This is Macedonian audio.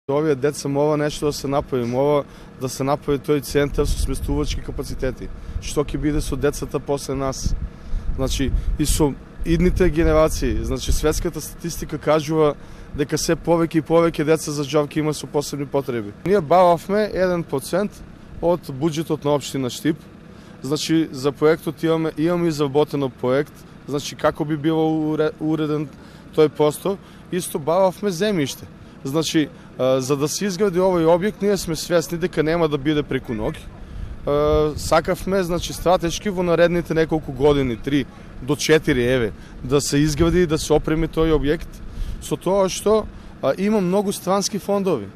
Овие деца мова нешто да се направи, мова да се направи тој центар со сместувачки капацитети. Што ќе биде со децата после нас? Значи, и со идните генерации. Значи, светската статистика кажува дека се повеќе и повеќе деца за џавки има со посебни потреби. Ние бававме 1% од буџетот на општина Штип. Значи, за проектот имаме изработено проект, значи како би било уреден тој простор. Исто бававме земјиште. Значи, за да се изгради овој објект, ние сме свесни дека нема да биде преку ноќ. Сакавме, значи, стратешки во наредните неколку години, 3 до 4 да се изгради и да се опреми тој објект, со тоа што има многу странски фондови.